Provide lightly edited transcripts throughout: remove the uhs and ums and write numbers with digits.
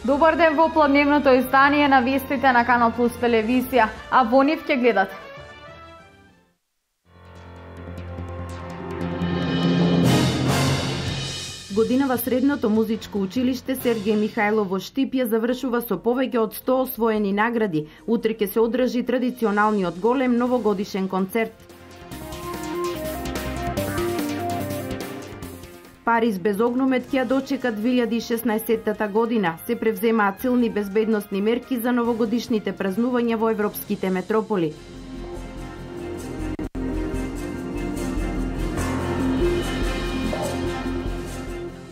Добар ден во попладневното издание на вестите на Канал Плюс телевизија, а во нив ќе гледате. Годинава средното музичко училиште Сергеј Михајлов во Штип ја завршува со повеќе од 100 освоени награди. Утре ќе се одржи традиционалниот голем новогодишен концерт. Париз без огномет ќе ја дочека 2016 година. Се превземаат силни безбедносни мерки за новогодишните празнувања во европските метрополи.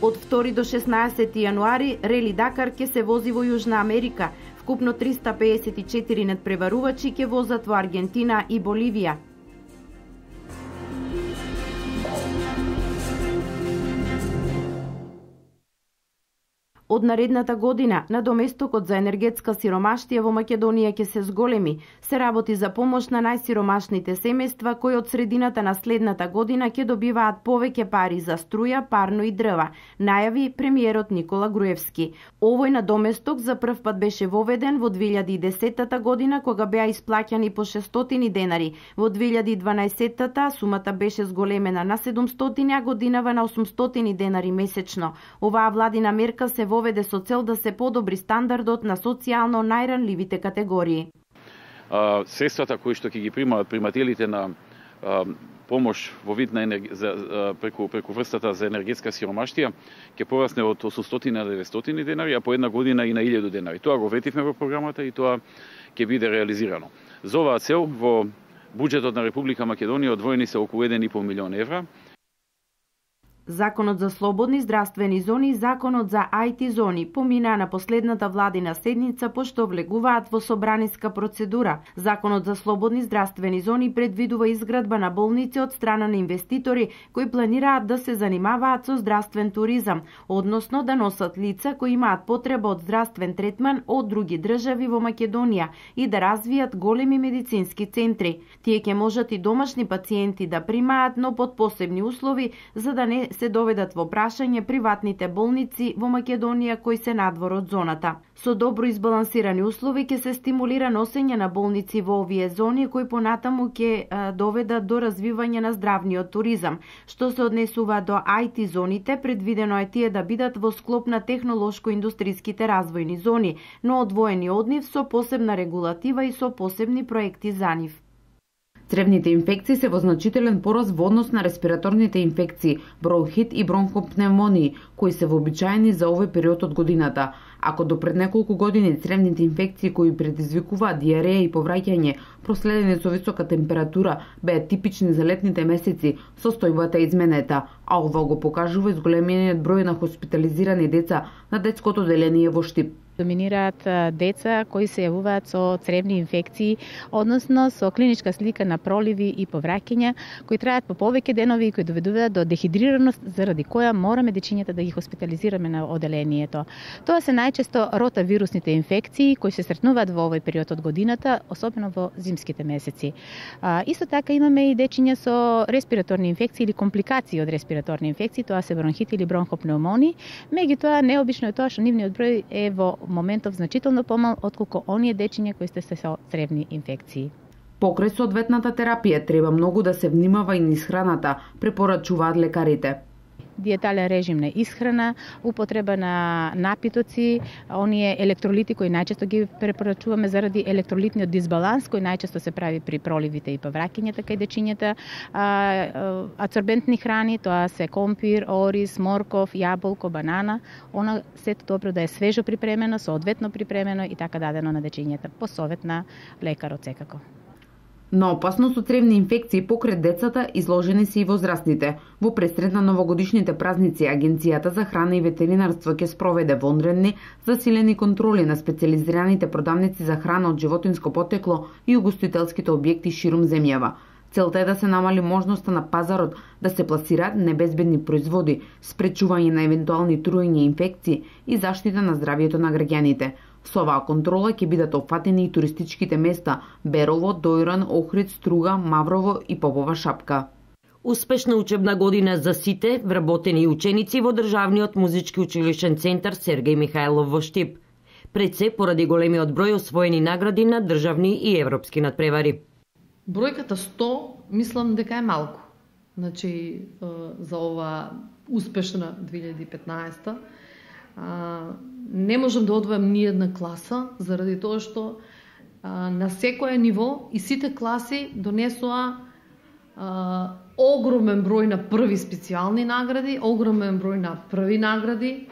Од 2 до 16 јануари Рели Дакар ќе се вози во Јужна Америка. Вкупно 354 надпреварувачи ќе возат во Аргентина и Боливија. Од наредната година, надоместокот за енергетска сиромаштија во Македонија ќе се зголеми. Се работи за помош на најсиромашните семејства кои од средината на следната година ќе добиваат повеќе пари за струја, парно и дрва, најави премиерот Никола Груевски. Овој надоместок за прв пат беше воведен во 2010 година кога беа исплаќани по 600 денари. Во 2012 сумата беше зголемена на 700, а годинава на 800 денари месечно. Оваа владина мерка се воведе со цел да се подобри стандардот на социјално најранливите категории. Средствата кои што ќе ги примаат примателите на помош во вид на преку врстата за енергетска сиромаштија ќе порасне од 800 на 900 денари, а по една година и на 1000 денари. Тоа го ветивме во програмата и тоа ќе биде реализирано. За оваа цел во буџетот на Република Македонија одвоени се околу 1,5 милион евра. Законот за слободни здравствени зони и Законот за IT зони поминаа на последната владина седница пошто влегуваат во собраниска процедура. Законот за слободни здравствени зони предвидува изградба на болници од страна на инвеститори кои планираат да се занимаваат со здравствен туризам, односно да носат лица кои имаат потреба од здравствен третман од други држави во Македонија и да развијат големи медицински центри. Тие ќе можат и домашни пациенти да примаат, но под посебни услови за да не се доведат во прашање приватните болници во Македонија кои се надвор од зоната. Со добро избалансирани услови ќе се стимулира носење на болници во овие зони кои понатаму ќе доведат до развивање на здравниот туризам. Што се однесува до IT зоните, предвидено е тие да бидат во склоп на технолошко-индустријските развојни зони, но одвоени од нив со посебна регулатива и со посебни проекти за нив. Цревните инфекции се во значителен пораст во однос на респираторните инфекции, бронхит и бронхопневмонии, кои се вообичаени за овој период од годината. Ако до пред неколку години цревните инфекции кои предизвикуваат диареја и повраќање, проследени со висока температура, беа типични за летните месеци, состојбата е изменета, а ова го покажува изголемениот број на хоспитализирани деца на детското одделение во Штип. Доминираат деца кои се јавуваат со цревни инфекции, односно со клиничка слика на проливи и повраќања, кои трајат по повеќе денови и кои доведуваат до дехидрираност, заради која мораме дечињата да ги хоспитализираме на одделението. Тоа се најчесто ротавирусните инфекции кои се сретнуваат во овој период од годината, особено во зимските месеци. Исто така имаме и дечиња со респираторни инфекции или компликации од респираторни инфекции, тоа се бронхит или бронхопнеумонии. Меѓутоа необично е тоа што нивниот број е во моментов значително помал отколку оние дечиња кои сте се со цревни инфекции. Покрај соодветната терапија треба многу да се внимава и низ храната, препорачуваат лекарите. Диетален режим на исхрана, употреба на напитоци, оние електролити кои најчесто ги препорачуваме заради електролитниот дисбаланс кој најчесто се прави при проливите и повраќањата кај дечињата, адсорбентни храни, тоа се компир, ориз, морков, јаболко, банана, она сето добро да е свежо припремено, соодветно припремено и така дадено на дечињата по совет на лекарот секако. На опасност од цревни инфекции покрај децата изложени се и возрастните. Во пресред на новогодишните празници, Агенцијата за храна и ветеринарство ќе спроведе вонредни, засилени контроли на специјализираните продавници за храна од животинско потекло и угостителските објекти ширум земјава. Целта е да се намали можноста на пазарот да се пласираат небезбедни производи, спречување на евентуални труење и инфекции и заштита на здравието на граѓаните. Со оваа контрола ќе бидат опфатени и туристичките места Берово, Дојран, Охрид, Струга, Маврово и Попова Шапка. Успешна учебна година за сите вработени ученици во Државниот музички училишен центар Сергеј Михајлов во Штип. пред се поради големиот број освоени награди на државни и европски надпревари. Бројката 100 мислам дека е малку. Значи за ова успешна 2015 не можам да одвојам ни една класа заради тоа што на секое ниво и сите класи донесоа огромен број на први специјални награди, огромен број на први награди,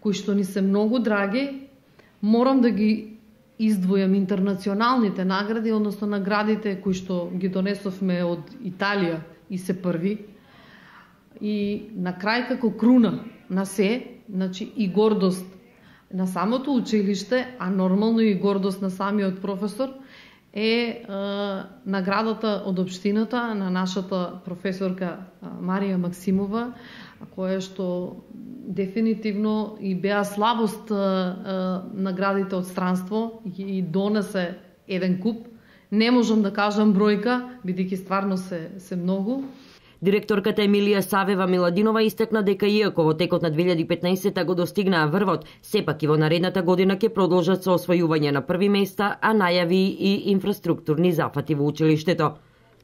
кои што ни се многу драги. Морам да ги издвојам интернационалните награди, односно наградите кои што ги донесовме од Италија и се први. И на крај како круна на се, значи и гордост на самото училиште, а нормално и гордост на самиот професор, е наградата од општината на нашата професорка Марија Максимова, која што дефинитивно и беа слабост наградите од странство и донесе еден куп. Не можам да кажам бројка, бидејќи стварно се многу. Директорката Емилија Савева Миладинова истакна дека иако во текот на 2015 го достигнаа врвот, сепак и во наредната година ќе продолжат со освојување на први места, а најави и инфраструктурни зафати во училиштето.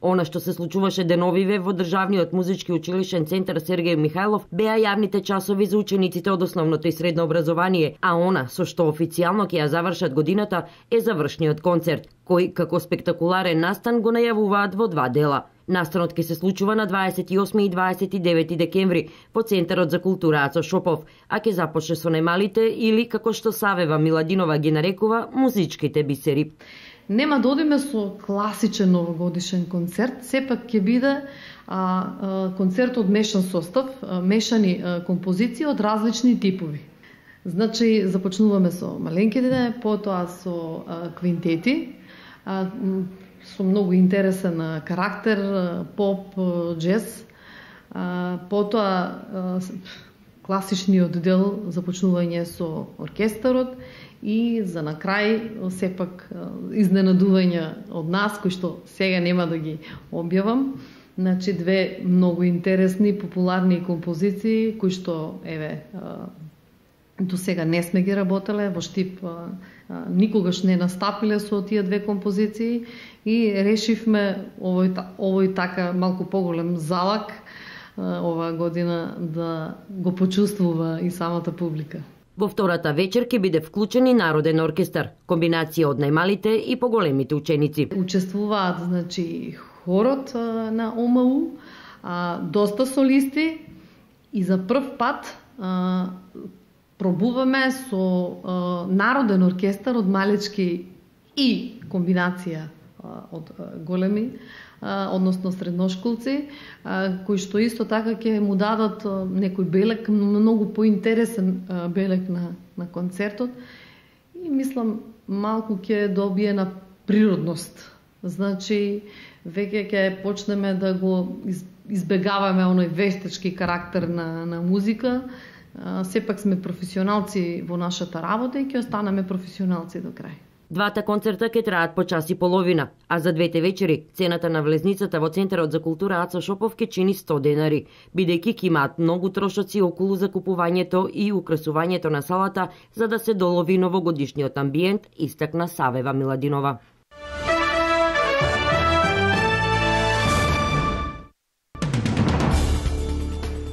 Она што се случуваше деновиве во Државниот музички училишен центар Сергеј Михајлов беа јавните часови за учениците од основното и средно образование, а она со што официјално ќе ја завршат годината е завршниот концерт, кој како спектакуларен настан го најавуваат во два дела. Настанот ќе се случува на 28 и 29 декември во Центарот за култура Ацо Шопов, а ќе започне со најмалите или, како што Савева Миладинова ги нарекува, музичките бисери. Нема да одиме со класичен новогодишен концерт, сепак ќе биде концерт од мешан состав, мешани композиции од различни типови. Значи, започнуваме со маленките, потоа со квинтети, со многу интересен карактер, поп, джез, потоа класичниот дел започнување со оркестарот и за на крај сепак изненадување од нас, кои што сега нема да ги објавам. Значи две многу интересни, популарни композиции кои што до сега не сме ги работеле, во Штип никогаш не настапиле со тие две композиции и решивме овој така малку поголем залак оваа година да го почувствува и самата публика. Во втората вечер ќе биде вклучен и Народен оркестар, комбинација од најмалите и поголемите ученици. Учествуваат, значи, хорот на ОМУ, доста солисти и за прв пат пробуваме со Народен оркестар од малечки и комбинација од големи, односно средношколци, кои што исто така ќе му дадат некој белег, многу поинтересен белег на концертот и мислам малку ќе добие на природност. Значи, веќе ќе почнеме да го избегаваме оној вештачки карактер на музика. Сепак сме професионалци во нашата работа и ќе останеме професионалци до крај. Двата концерта ќе траат по час и половина, а за двете вечери цената на влезницата во Центарот за култура Ацо Шопов ќе чини 100 денари, бидејќи ќе имаат многу трошоци околу закупувањето и украсувањето на салата за да се долови новогодишниот амбиент, истакна Савева Миладинова.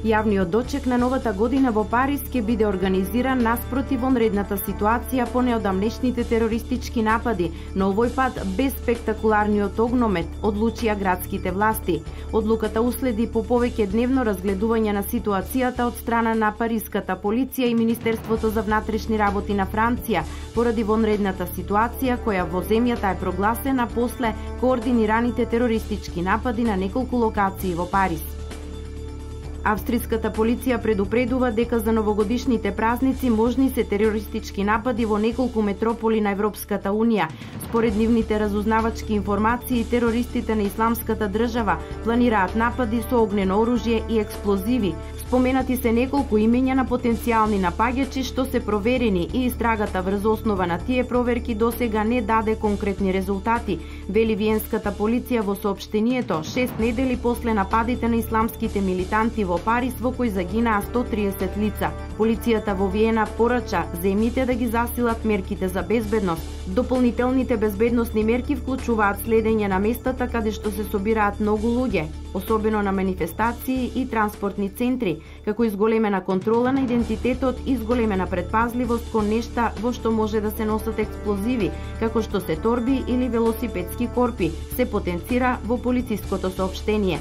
Јавниот дочек на новата година во Париз ќе биде организиран наспроти вонредната ситуација по неодамнешните терористички напади, но овој пат без спектакуларниот огномет, одлучија градските власти. Одлуката уследи по повеќе дневно разгледување на ситуацијата од страна на париската полиција и Министерството за внатрешни работи на Франција, поради вонредната ситуација која во земјата е прогласена после координираните терористички напади на неколку локации во Париз. Австриската полиција предупредува дека за новогодишните празници можни се терористички напади во неколку метрополи на Европската Унија. Според нивните разузнавачки информации, терористите на Исламската држава планираат напади со огнено оружје и експлозиви. Споменати се неколку имења на потенцијални напаѓачи што се проверени и истрагата врз основа на тие проверки досега не даде конкретни резултати, вели виенската полиција во соопштението 6 недели после нападите на исламските милитанти во во Париз во кој загинаа 130 лица. Полицијата во Виена порача земјите да ги засилат мерките за безбедност. Дополнителните безбедносни мерки вклучуваат следење на местата каде што се собираат многу луѓе, особено на манифестации и транспортни центри, како изголемена контрола на идентитетот и изголемена предпазливост кон нешта во што може да се носат експлозиви, како што се торби или велосипедски корпи, се потенцира во полициското соопштение.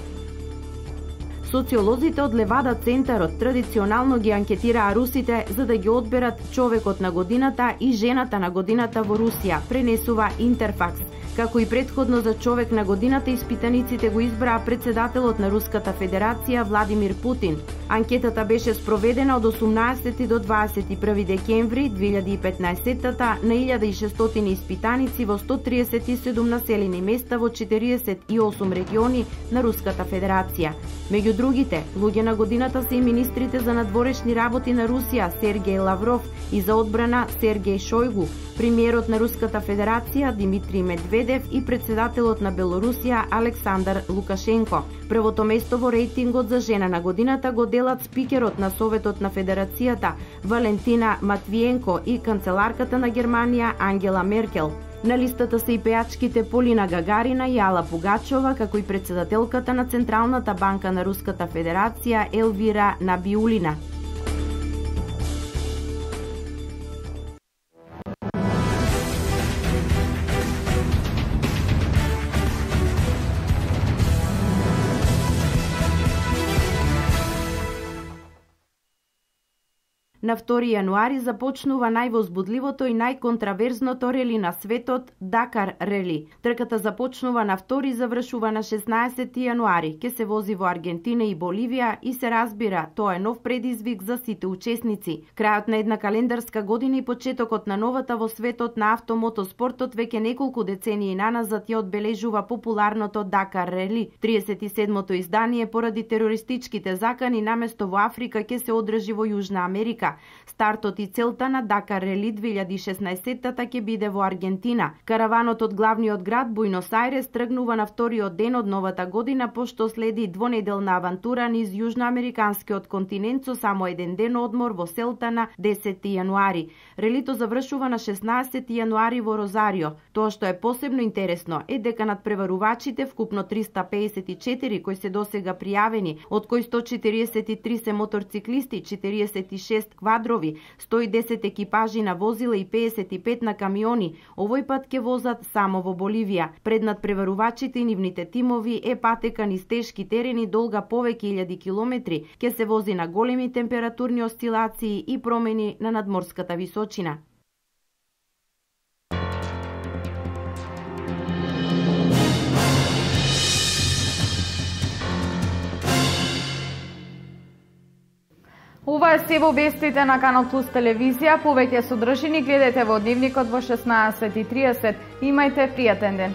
Социолозите од Левада центарот традиционално ги анкетираа русите за да ги одберат човекот на годината и жената на годината во Русија, пренесува Интерфакс. Како и предходно за човек на годината, испитаниците го избраа председателот на Руската Федерација Владимир Путин. Анкетата беше спроведена од 18 до 21 декември 2015 на 1600 испитаници во 137 населени места во 48 региони на Руската Федерација. Меѓу другите, луѓе на годината се и министрите за надворешни работи на Русија Сергеј Лавров и за одбрана Сергеј Шојгу, премиерот на Руската Федерација Димитри Медведев и председателот на Белорусија Александар Лукашенко. Првото место во рейтингот за жена на годината го делат спикерот на Советот на Федерацијата Валентина Матвиенко и канцеларката на Германија Ангела Меркел. На листата се и пејачките Полина Гагарина и Ала Пугачова, како и председателката на Централната банка на Руската Федерација Елвира Набиулина. На 2 јануари започнува највозбудливото и најконтраверзното рели на светот, Дакар рели. Трката започнува на 2 и завршува на 16 јануари. Ке се вози во Аргентина и Боливија и се разбира, тоа е нов предизвик за сите учесници. Крајот на една календарска година и почетокот на новата во светот на автомотоспортот веќе неколку децении наназад ја одбележува популарното Дакар рели. 37-то издание поради терористичките закани наместо во Африка ке се одржи во Јужна Америка. Стартот и целта на Дакар рели 2016-та ќе биде во Аргентина. Караванот од главниот град Буенос Ајрес тргнува на вториот ден од новата година, пошто следи двонеделна авантура низ јужноамериканскиот континент со само еден ден одмор во селта на 10 јануари. Релито завршува на 16 јануари во Розарио. Тоа што е посебно интересно е дека надпреварувачите, вкупно 354 кои се досега пријавени, од кои 143 се моторциклисти, 46 квадрови, 110 екипажи на возила и 55 на камиони, овој пат ќе возат само во Боливија. Пред надпреварувачите и нивните тимови е патека низ тешки терени долга повеќе илјади километри, ќе се вози на големи температурни осцилации и промени на надморската височина. Ова е се во вестите на Канал Плюс телевизија. Повеќе содржини гледате во Дневникот во 16:30. Имајте пријатен ден.